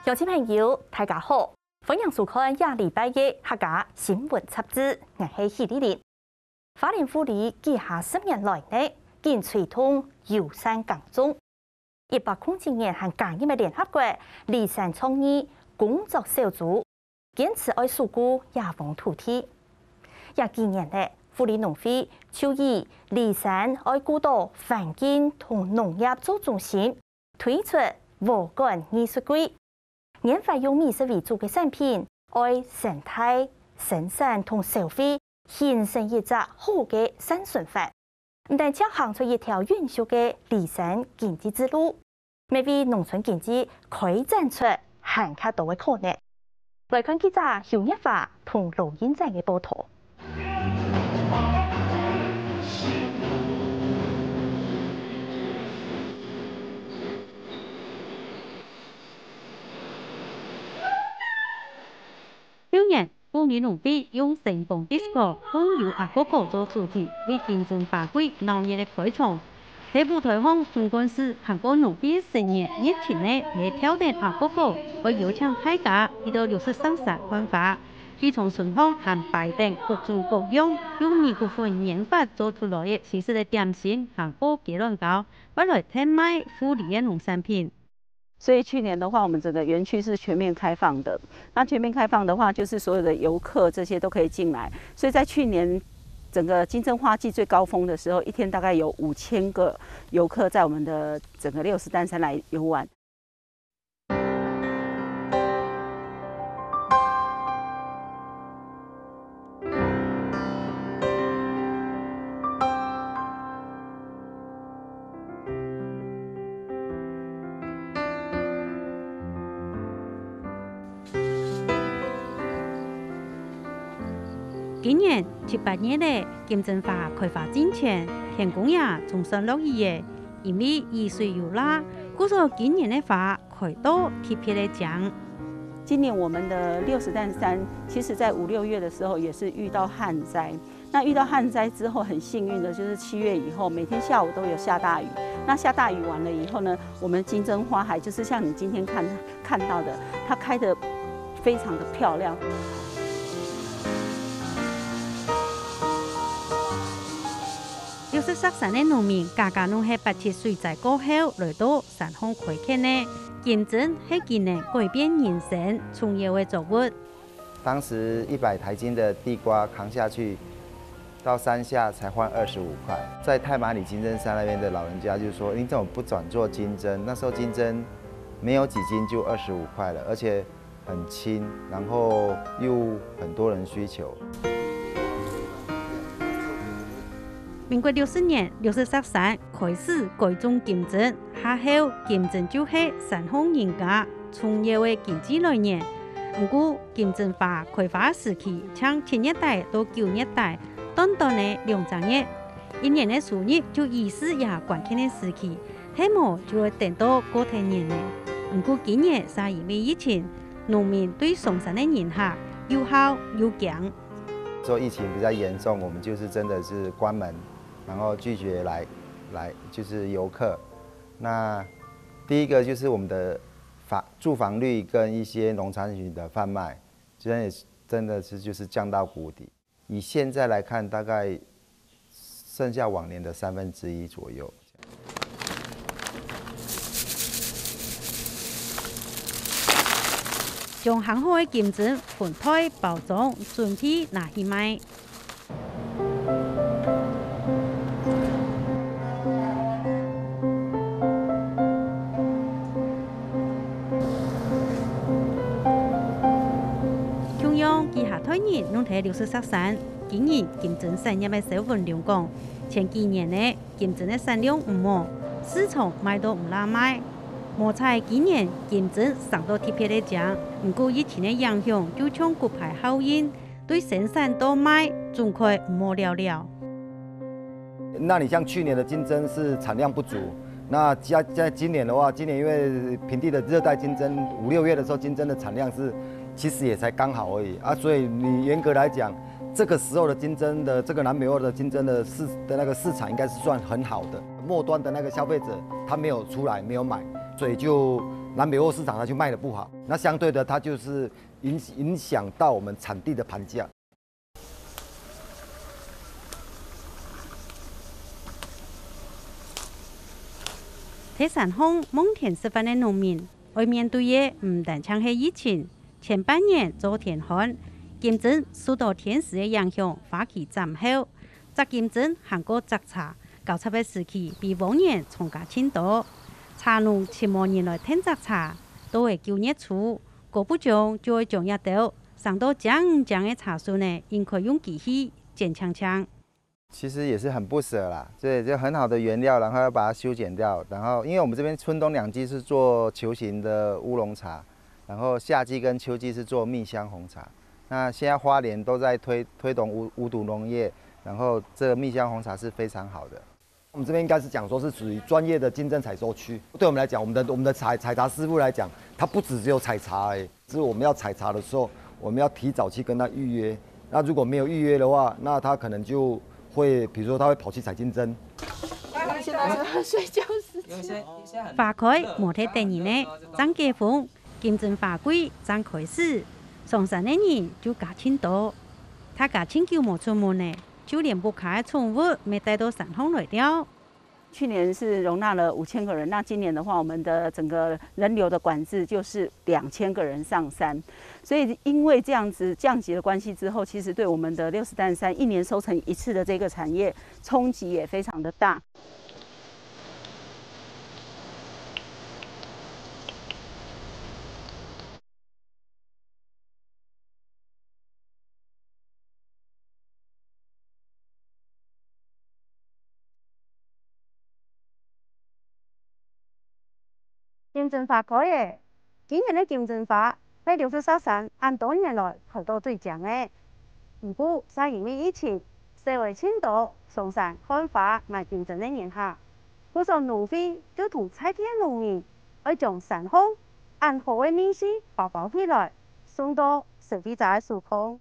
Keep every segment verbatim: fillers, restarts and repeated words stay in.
鄉親朋友，大家好，歡迎收看這禮拜个客家新聞雜誌，𠊎係許麗玲。花蓮富里幾下十年來呢，緊推動友善耕種。一百空七年還加入个聯合國里山倡議工作小組，堅持愛守護野荒土地。這幾年呢，富里農會就以里山愛顧到環境同農業做中心，推出禾稈藝術季，研發用美食為主个產品，愛生態、生產同消費形成一隻好个善循環。毋單淨行出一條永續个里山經濟之路，乜為農村經濟開展出還較多个可能。來看記者邱月華同羅英展个報導。 舊年，富里農會用星光disco、風流阿哥哥做主題，為金針花季鬧熱个開場。在舞台項，總幹事還過農會成員熱情个來挑等阿哥哥，愛邀請大家去到六十石山看花。佢從春項還擺等各種各樣用米穀粉研發做出來个新式个點心，還過雞卵糕，愛來特賣富里个農產品。 所以去年的話，我們整個園區是全面開放的。那全面開放的話，就是所有的遊客這些都可以進來。所以在去年整個金針花季最高峰的時候，一天大概有五千個遊客在我們的整個六十石山來遊玩。 今年七八月了，金針花開花盡全，天公爺總算落雨了。因為雨水有罅，故所今年个花 開到特別个靚。今年我們的六十石山，其實在五六月的時候也是遇到旱災。那遇到旱災之後，很幸運的就是七月以後，每天下午都有下大雨。那下大雨完了以後呢，我們金針花海就是像你今天看，看到的，它開得非常的漂亮。 六十石山个農民，家家攏係八七水災過後來到山項開墾个。金針係佢等改變人生重要个作物。當時一百台斤的地瓜扛下去，到山下才換二十五塊。在太麻里金針山那邊的老人家就說：「你怎麼不轉做金針？」那時候金針沒有幾斤就二十五塊了，而且 很輕，然後又很多人需求。民國六十年，六十石山開始改種金針，下後金針就係山項人家重要个經濟來源。毋過，金針花開花時期，像七月底到九月底，短短个兩隻月，一年个收入就以四也關鍵个時期， 係無就會等到過忒年了。毋過今年嗄因為疫情，農民對上山个人客又好又驚。說疫情比較嚴重，我們就是真的是關門，然後拒絕來，來，就是遊客。那第一個就是我們的房，住房率跟一些農產品的販賣，真的是，真的是就是降到谷底。 以現在來看，大概剩下往年的三分之一左右。將烘好个金針分袋包裝，準備拿去賣。 共樣，幾下代人攏在六十石山經營金針產業个蕭文龍講，前幾年呢，金針个產量毋好，市場賣到毋罅賣。無彩今年金針生到特別个靚，毋過疫情个影響，就像骨牌效應， 對生產到賣總會毋好了了。那你像去年的金針是產量不足，那加，在今年的話，今年因為平地的熱帶金針，五六月的時候，金針的產量是其實也才剛好而已啊，所以你嚴格來講，這個時候的金針的，這個南北貨的金針的市，的那個市場應該是算很好的，末端的那個消費者他沒有出來，沒有買，所以就南北货市场它就卖得不好，那相对的它就是影影响到我们产地的盘价。 在山項望天食飯个農民，愛面對个毋單淨係疫情，前半年做天旱，金針受到天時个影響，花期斬後，摘金針還過摘茶，交插个時期比往年長加盡多。茶農尋無人來𢯭摘茶，到了九月初，高不將就愛將這兜生到靚靚个茶樹呢，應該用機器剪淨淨。 其實也是很不捨啦，對，就很好的原料，然後要把它修剪掉，然後因為我們這邊春冬兩季是做球形的烏龍茶，然後夏季跟秋季是做蜜香紅茶。那現在花蓮都在推推動無無毒農業，然後這個蜜香紅茶是非常好的。我們這邊應該是講說是屬於專業的金針採收區，對我們來講，我們的我們的採採茶師傅來講，他不只只有採茶而已。 是我們要採茶的時候，我們要提早去跟他預約。那如果沒有預約的話，那他可能就會，比如說他會跑去採金針。現在是睡覺時間。花開無忒得人呢，正解封，金針花季正開始，上山个人就加盡多。大家盡久無出門呢，就連屋下个寵物乜帶到山項來尞。 去年是容納了五千個人，那今年的話，我們的整個人流的管制就是兩千個人上山，所以因為這樣子降級的關係之後，其實對我們的六十石山一年收成一次的這個產業衝擊也非常的大。 金針花開咧！今年个金針花係六十石山恁多年來開到最靚个。毋過，正因為疫情，細妹盡多上山看花買金針个人客，故所農會就同在地个農民愛將山項恁好个蜜緒包包起來，送到消費者个手項。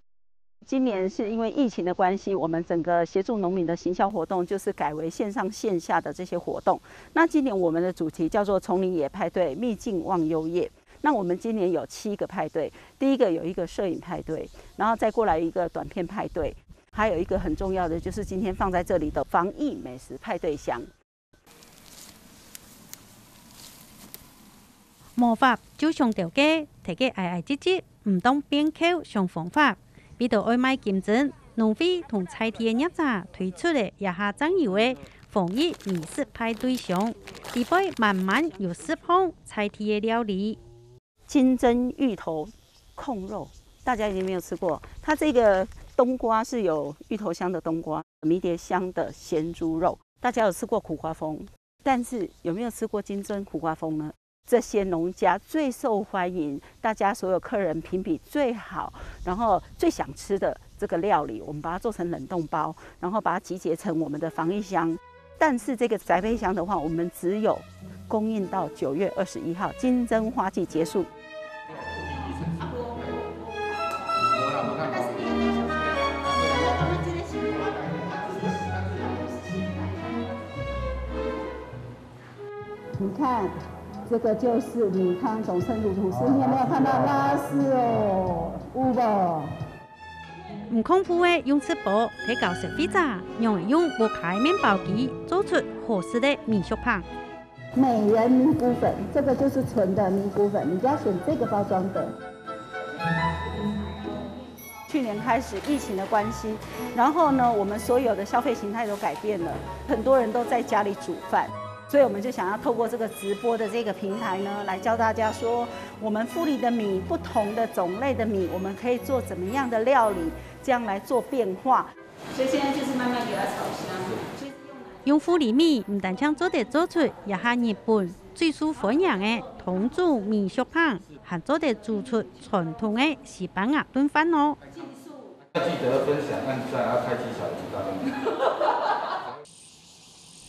今年是因為疫情的關係，我們整個協助農民的行銷活動就是改為線上線下的這些活動。那今年我們的主題叫做「叢林野派對，蜜盡忘憂夜」。那我們今年有七個派對，第一個有一個攝影派對，然後再過來一個短片派對，還有一個很重要的就是今天放在這裡的防疫美食派對箱。 無法就想兜个，大家挨挨擠擠，毋當變糗想方法。為著愛賣金針，農會同在地个業者推出个這下正有个防疫美食派對箱，裡背滿滿有十項在地个料理。 金針芋頭控肉，大家一定沒有吃過。它這個冬瓜是有芋頭香的冬瓜，迷迭香的鹹豬肉。大家有吃過苦瓜封，但是有沒有吃過金針苦瓜封呢？這些農家最受歡迎，大家所有客人評比最好，然後最想吃的這個料理，我們把它做成冷凍包，然後把它集結成我們的防疫箱。 但是這個宅配箱的話，我們只有供應到九月二十一號，金針花季結束。你看，這個就是米糠總成滷吐司，你有沒有看到拉絲哦？有無？ 毋講破个用直播，提教消費者仰會用屋下个麵包機做出好食个米粟粄。美人米谷粉，這個就是純的米谷粉，你就要選這個包裝的。去年開始疫情的關係，然後呢，我們所有的消費形態都改變了，很多人都在家裡煮飯，所以我們就想要透過這個直播的這個平台呢，來教大家說，我們富里的米，不同的種類的米，我們可以做怎麼樣的料理，這樣來做變化。所以現在就是慢慢給它炒香。用富里米毋單淨做得做出這下日本最受歡迎个桶煮米粟粄，還做得煮出傳統个西班牙燉飯哦。要記得分享、按讚，要開啟小鈴鐺。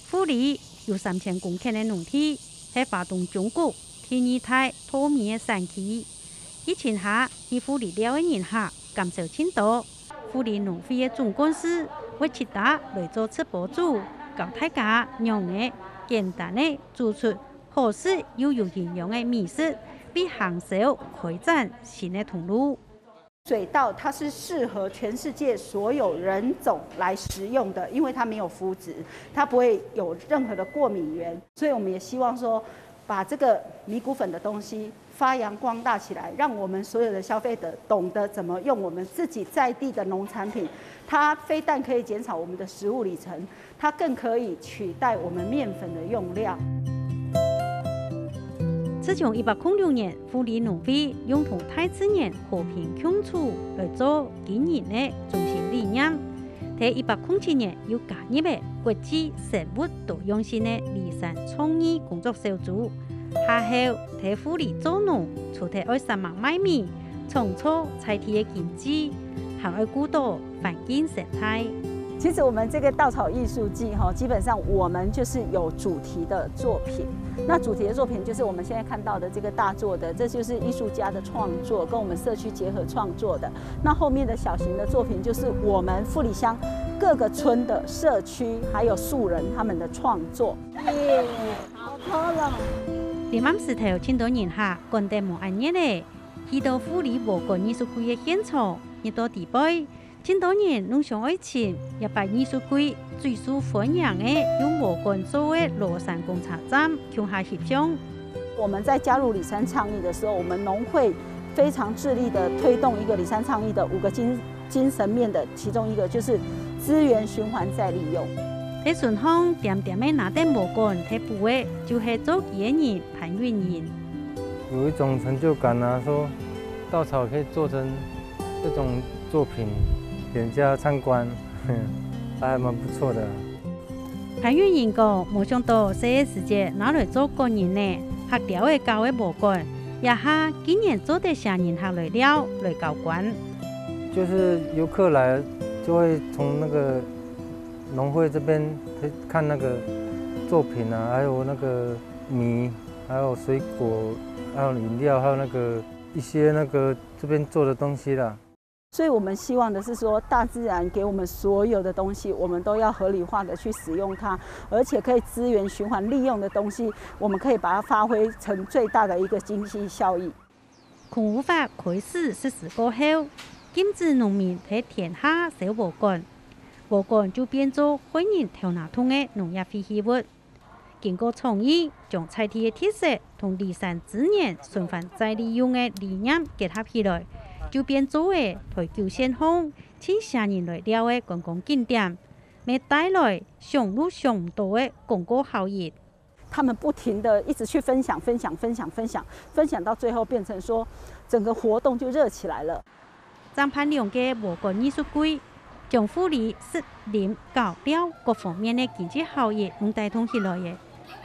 富里有三千公頃个農地，係花東縱谷第二大稻米个產區。疫情下，去富里尞个人客減少盡多。富里農會个總幹事會直接來做直播主，教大家仰仔簡單个煮出好食又有營養个美食，為行銷開展新个通路。水稻它是適合全世界所有人種來食用的，因為它沒有麩質，它不會有任何的過敏原，所以我們也希望說，把這個米穀粉的東西發揚光大起來，讓我們所有的消費者懂得怎麼用我們自己在地的農產品，它非但可以減少我們的食物里程，它更可以取代我們麵粉的用量。自從一八空六年，富里農會用同大自然和平共處來做經營个中心理念，在一八空七年又加入个國際生物多樣性个梨山創意工作小組。下後，在富里做農，除忒愛煞猛賣米，創造在地个經濟，還愛顧到環境生態。其實我們這個稻草藝術季哈，基本上我們就是有主題的作品。那主題的作品就是我們現在看到的這個大作的，這就是藝術家的創作，跟我們社區結合創作的。那後面的小型的作品就是我們富里鄉各個村的社區還有素人他們的創作。耶，好漂亮！臨暗時頭，盡多人客趕得無恁熱咧，去到富里禾埕藝術季个現場，入到底背， 盡多人攏想愛尋這擺藝術季最受歡迎个用禾稈做个羅山公車站共下翕相。我們在加入梨山倡議的時候，我們農會非常致力地推動一個梨山倡議的五個精，精神面的其中一個就是資源循環再利用。在身項恬恬仔拿等禾稈忒補个，就係做佢个人 潘韻瑩。有一種成就感啊，說稻草可以做成這種作品，給人家參觀，還蠻不錯的。潘韻瑩講，無想到細个時節拿來做個人呢，客寮仔搞个禾稈，這下竟然做得請人客來尞、來交關。就是遊客來，就會從那個農會這邊看那個作品啊，還有那個米，還有水果，還有飲料，還有那個一些那個這邊做的東西啦。所以我們希望的是說，大自然給我們所有的東西，我們都要合理化的去使用它，而且可以資源循環利用的東西，我們可以把它發揮成最大的一個經濟效益。 空污法開始實施過後，禁止農民在田下燒禾稈，禾稈就變做害人頭那痛个農業廢棄物。經過倡議，將在地个特色同梨山資源循環再利用个理念結合起來，就變做了台九線項盡唌人來尞个觀光景點，乜帶來想都想毋到个廣告效益。 他們不停地一直去分享、分享、分享、分享，分享到最後變成說，整個活動就熱起來了。正辦兩個禾稈藝術季，將富里食、啉、搞、尞各方面个經濟效益攏帶動起來了。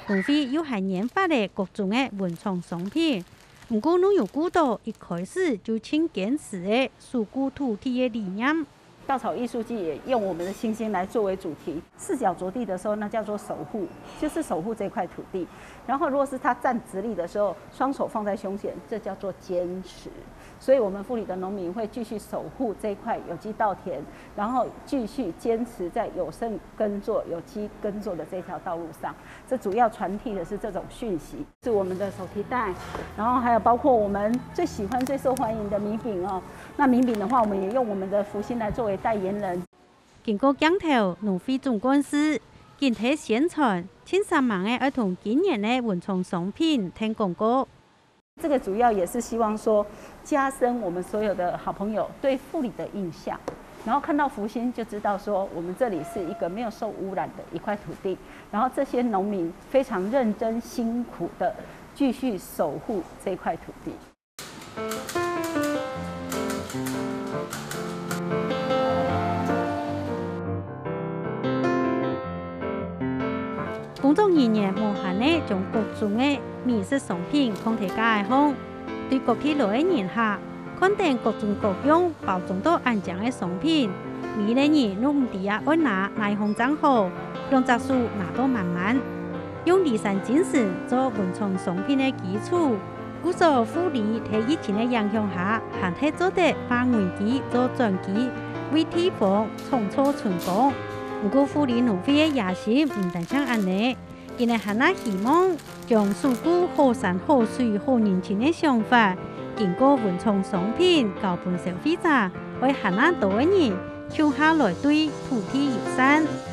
農會又還研發了各種个文創商品，毋過攏有顧到一開始就盡堅持个守護土地个理念。 稻草藝術季也用我們的星星來作為主題。四腳著地的時候，那叫做守護，就是守護這塊土地。然後，如果是它站直立的時候，雙手放在胸前，這叫做堅持。所以，我們富里的農民會繼續守護這塊有機稻田，然後繼續堅持在友善耕作、有機耕作的這條道路上。這主要傳遞的是這種訊息。 是我們的手提袋，然後還有包括我們最喜歡、最受歡迎的米餅哦。那米餅的話，我們也用我們的福星來作為代言人。經過鏡頭，農會總幹事緊貼宣傳，盡煞猛个愛同今年个文創商品添廣告。這個主要也是希望說，加深我們所有的好朋友對富里的印象，然後看到福星就知道說，我們這裡是一個沒有受污染的一塊土地。 然後這些農民非常認真辛苦地繼續守護這塊土地。工作人員無閒仔將各種个美食商品囥在架仔項，對各地來个人客 看等各種各樣包裝到恁靚个商品，每個人都毋知啊愛拿哪項正好，兩隻手拿到滿滿。用梨山精神做文創商品个基礎，故所富里在疫情个影響下，還係做得化危機做轉機，為地方創造春光。毋過富里農會个野心毋單淨恁呢，佢等還較希望將首都好山好水好人情个想法，經過文創商品交分消費者，愛還較多个人共下來對土地友善。